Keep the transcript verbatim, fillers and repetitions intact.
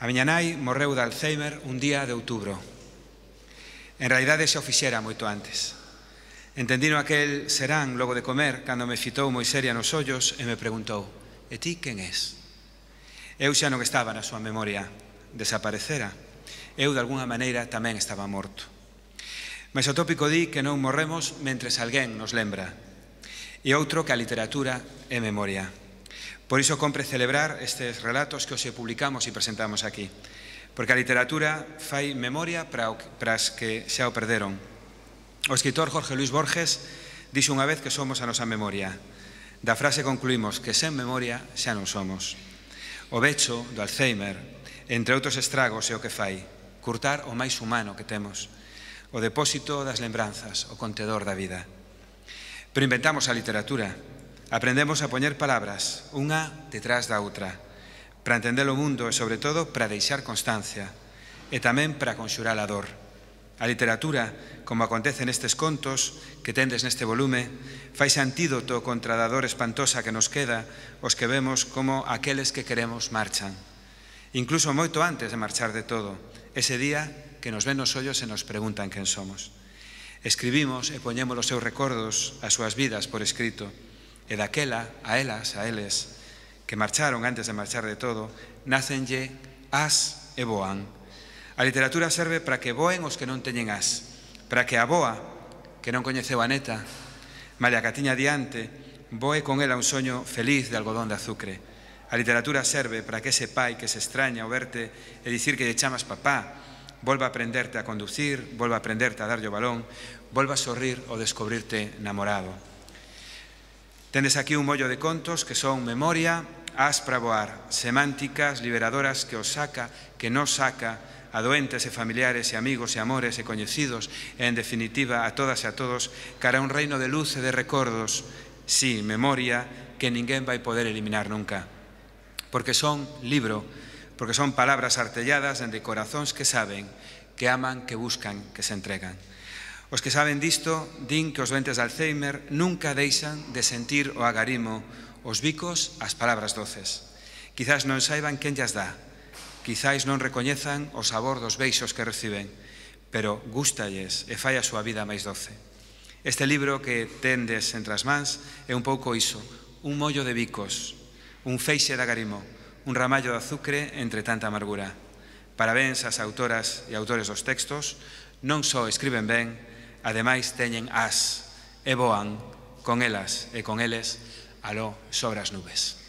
A miña nai morreu de Alzheimer un día de outubro. En realidade xa o fixera moito antes. Entendino aquel serán logo de comer cando me fitou moi seria nos ollos e me preguntou: "E ti quen és?" Eu xa non estaba na súa memoria, desaparecera. Eu, de alguna maneira, tamén estaba morto. Mais o tópico di que non morremos mentres alguén nos lembra. E outro que a literatura é memoria. Por iso compre celebrar estes relatos que hoxe publicamos e presentamos aquí. Porque a literatura fai memoria para as que xa o perderon. O escritor Jorge Luis Borges dixo unha vez que somos a nosa memoria. Da frase concluímos que sen memoria xa non somos. O vecho do Alzheimer, entre outros estragos, é o que fai curtar o máis humano que temos, o depósito das lembranzas, o contedor da vida. Pero inventamos a literatura, aprendemos a poñer palabras, unha detrás da outra, para entender o mundo e, sobre todo, para deixar constancia, e tamén para conxurar a dor. A literatura, como acontece nestes contos que tendes neste volume, faise antídoto contra a dor espantosa que nos queda os que vemos como aqueles que queremos marchan. Incluso moito antes de marchar de todo, ese día que nos ven nos ollos e nos preguntan quen somos. Escribimos e poñemos os seus recordos, as súas vidas por escrito, e daquela, a elas, a eles, que marcharon antes de marchar de todo, nácenlle as e voan. A literatura serve para que voen os que non teñen as, para que a boa, que non coñeceu a neta, malia que a tiña diante, voe con ela un soño feliz de algodón de azucre. A literatura serve para que ese pai que se extraña ao verte e dicir que lle chamas papá, volva a aprenderte a conducir, volva a aprenderte a darlle o balón, volva a sorrir ou descubrirte namorado. Tendes aquí un mollo de contos que son memoria, as para voar, semánticas liberadoras que os saca, que nos saca, a doentes e familiares e amigos e amores e coñecidos e, en definitiva, a todas e a todos cara a un reino de luz e de recordos, sí, memoria, que ninguén vai poder eliminar nunca. Porque son libro, porque son palabras artelladas dende corazóns que saben, que aman, que buscan, que se entregan. Os que saben disto din que os doentes de Alzheimer nunca deixan de sentir o agarimo, os bicos, as palabras doces. Quizás non saiban quen llas dá, quizás non recoñezan o sabor dos beixos que reciben, pero gústalles e fai a súa vida máis doce. Este libro que tendes entre as mans é un pouco iso, un mollo de bicos, un feixe de agarimo, un ramallo de azucre entre tanta amargura. Parabéns ás autoras e autores dos textos, non só escriben ben, ademais teñen as e voan con elas e con eles aló sobre as nubes.